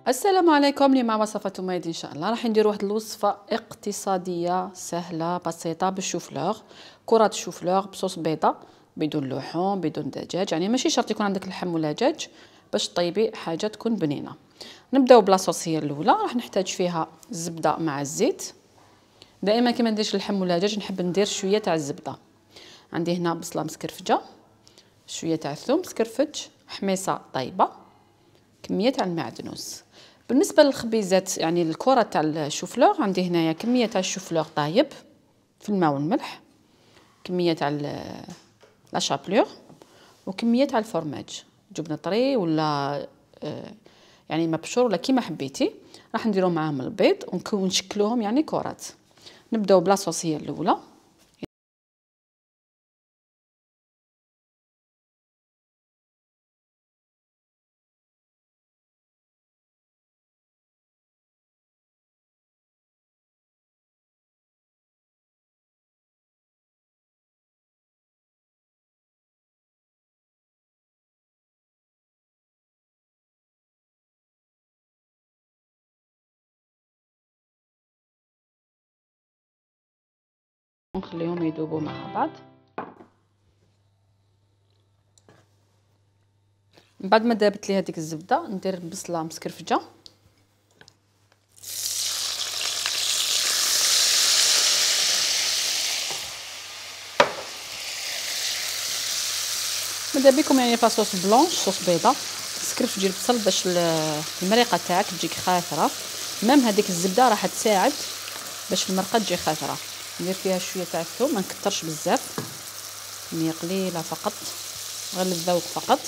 السلام عليكم. اليوم مع وصفة مايد ان شاء الله راح ندير واحد الوصفه اقتصاديه سهله بسيطه بالشوفلوغ، كرات الشوفلوغ بصوص بيضه بدون لحوم بدون دجاج، يعني ماشي شرط يكون عندك لحم ولا دجاج باش طيبي حاجه تكون بنينه. نبداو بلاصوص هي الاولى، راح نحتاج فيها الزبده مع الزيت. دائما كي ما نديرش اللحم ولا دجاج نحب ندير شويه تاع الزبده. عندي هنا بصله مسكرفجه، شويه تاع الثوم مسكرفج، حميصه طيبه، كميه تاع المعدنوس. بالنسبه للخبيزات يعني الكره تاع الشوفلوغ، عندي هنايا كميه تاع الشوفلوغ طايب في الماء والملح، كميه تاع لا شابلور، وكميه تاع الفرماج جبنه طري ولا يعني مبشور ولا كيما حبيتي. راح نديرو معاهم البيض ونشكلوهم يعني كرات. نبداو بلاصوص هي الاولى. نخليهم يذوبوا مع بعض. من بعد ما ذابت لي هذيك الزبده ندير بصله مسكرفجه، ماذا بكم يعني فاصوص بلونش صوص بيضه. سكرفجي البصل باش المريقه تاعك تجيك خاثره، مام هذيك الزبده راح تساعد باش المرقه تجي خاثره. ندير فيها شويه تاع الثوم، ما نكثرش بزاف، كميه قليله فقط غير للذوق فقط.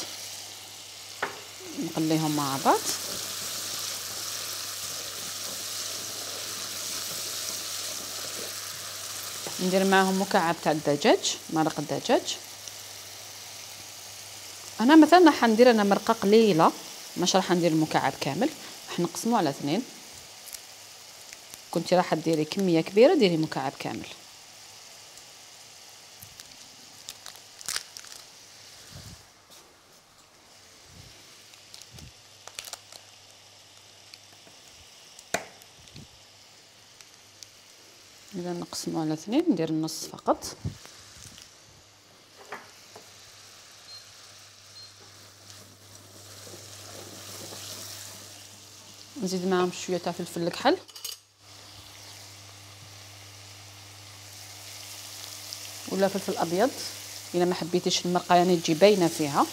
نقليهم مع بعض. ندير معاهم مكعب تاع الدجاج، مرق الدجاج. انا مثلا راح ندير مرقه قليله، مش راح ندير المكعب كامل، راح نقسمه على 2. كنتي راح ديري كميه كبيره ديري مكعب كامل. اذا نقسمه على 2 ندير النص فقط. نزيد معاهم شويه تاع فلفل الكحل، ولا فلفل ابيض الا ما حبيتيش المرقه يعني تجي باينه فيها.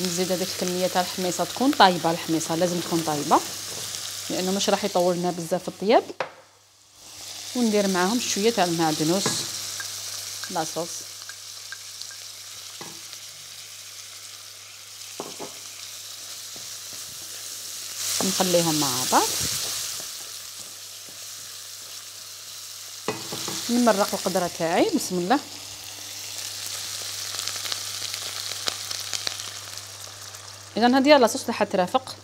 نزيد هذيك الكميه تاع الحميصه تكون طايبه، الحميصه لازم تكون طايبه لانه مش راح يطول لنا بزاف في الطياب. وندير معاهم شويه تاع المعدنوس لاصوص. نخليهم مع بعض. نمرق القدره تاعي بسم الله. اذا هذه لاصوص اللي حترافق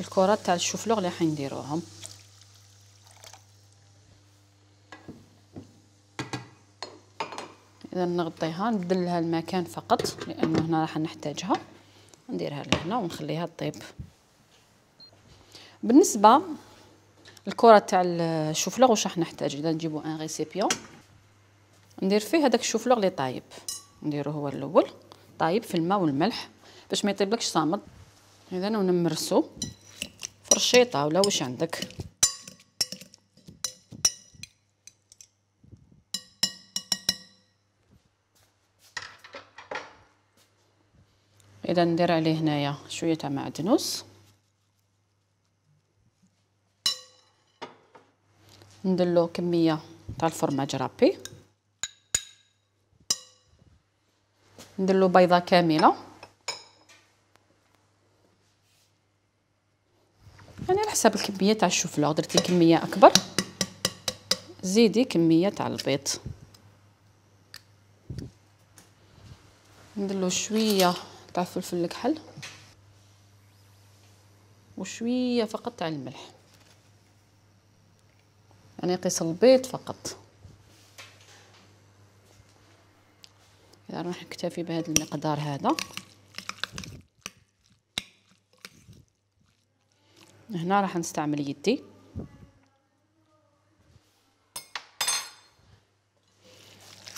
الكرات تاع الشوفلوغ اللي حنديروهم. اذا نغطيها نبدلها المكان فقط لانه هنا راح نحتاجها. نديرها لهنا ونخليها تطيب. بالنسبه الكره تاع الشوفلوغ واش راح نحتاج؟ اذا نجيبو ان ريسيبيون ندير فيه هذاك الشوفلوغ اللي طايب، نديرو هو الاول طايب في الماء والملح باش ما يطيبلكش صامد. اذا ونمرسو فرشيطه ولا واش عندك. اذا ندير عليه هنايا شويه تاع معدنوس، نديرلو كميه تاع الفرماج رابي، نديرلو بيضه كامله يعني على حسب الكميه تاع الشوفلوغ. درتي كميه اكبر زيدي كميه تاع البيض. نديرلو شويه تاع فلفل الكحل وشويه فقط تاع الملح، يعني قيس البيض فقط. راح نكتفي بهذا المقدار هذا. هنا راح نستعمل يدي.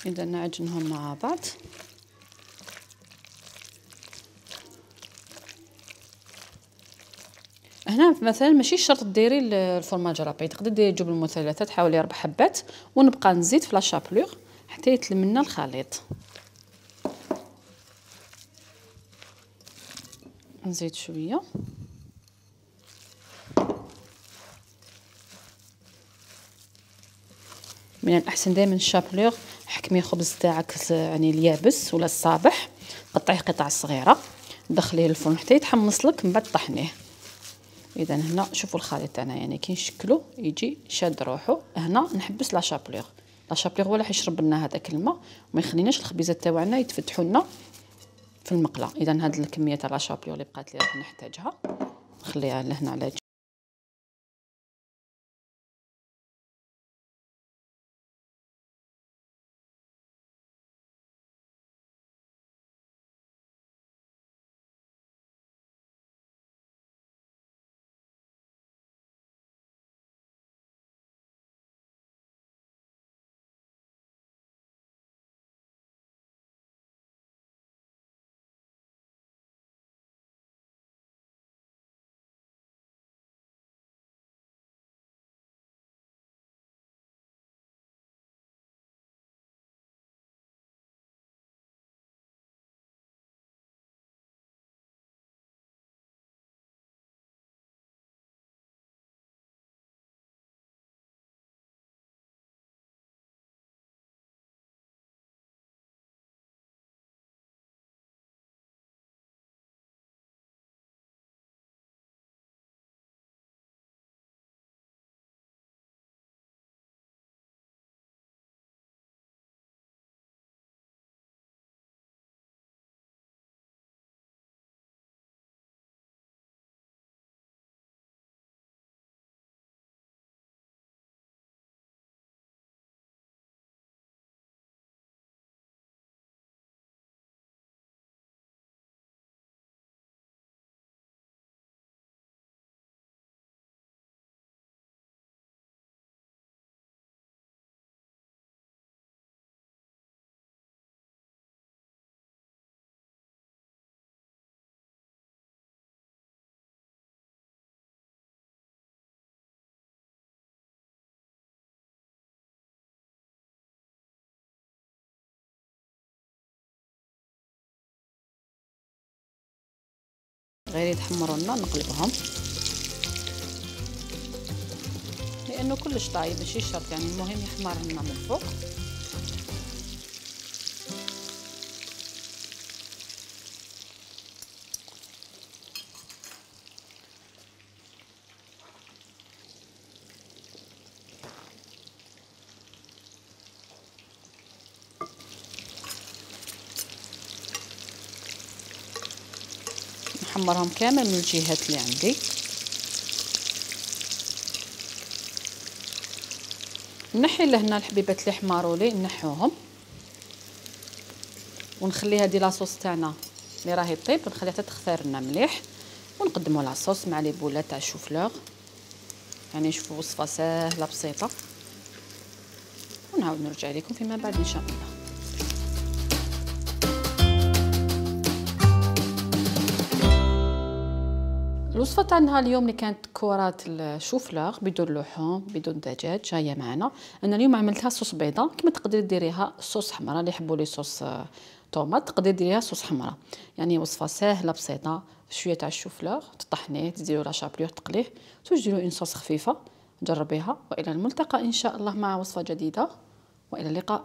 إذا نعجنهم مع بعض. هنا مثلا ماشي شرط ديري الفرماج رابي، تقدري ديري الجبن المثلثات، حوالي 4 حبات، ونبقى نزيد في لاشابلور حتى يتلم لنا الخليط. نزيد شويه. من الاحسن دائما الشابلور حكمي الخبز تاعك يعني اليابس ولا الصابح، قطعيه قطع صغيره، دخليه للفرن حتى يتحمص لك، من بعد طحنيه. اذا هنا شوفوا الخليط تاعنا يعني كي نشكلو يجي شاد روحو. هنا نحبس لاشابلور هو اللي حيشرب لنا هذاك الماء وما يخليناش الخبيزات تاعنا يتفتحوا لنا في المقله. اذا هذه الكميه تاع لاشابلور اللي بقات لي راح نحتاجها، نخليها لهنا على جنب. غير يتحمروا لنا نقلبهم، لانه كلش طايب ماشي شرط يعني، المهم يحمر لنا من الفوق. نحمرهم كامل من الجهات اللي عندي. نحي لهنا الحبيبات اللي حماروا لي نحوهم، ونخلي هذه لاصوص تاعنا اللي راهي طيب نخليها حتى تختار لنا مليح، ونقدموا لاصوص مع لي بولات تاع الشوفلور. يعني شوفوا وصفه سهله بسيطه، ونعاود نرجع لكم فيما بعد ان شاء الله. الوصفه تاعنا اليوم اللي كانت كرات الشوفلور بدون لحوم بدون دجاج جايه معنا. انا اليوم عملتها صوص بيضه، كما تقدري ديريها صوص حمراء، اللي يحبوا لي صوص طوماط تقدري ديريها صوص حمراء. يعني وصفه سهله بسيطه، شويه تاع الشوفلور تطحنيه تزيدوا لا شابلور تقليه، تديروا اون صوص خفيفه. جربيها، والى الملتقى ان شاء الله مع وصفه جديده، والى اللقاء.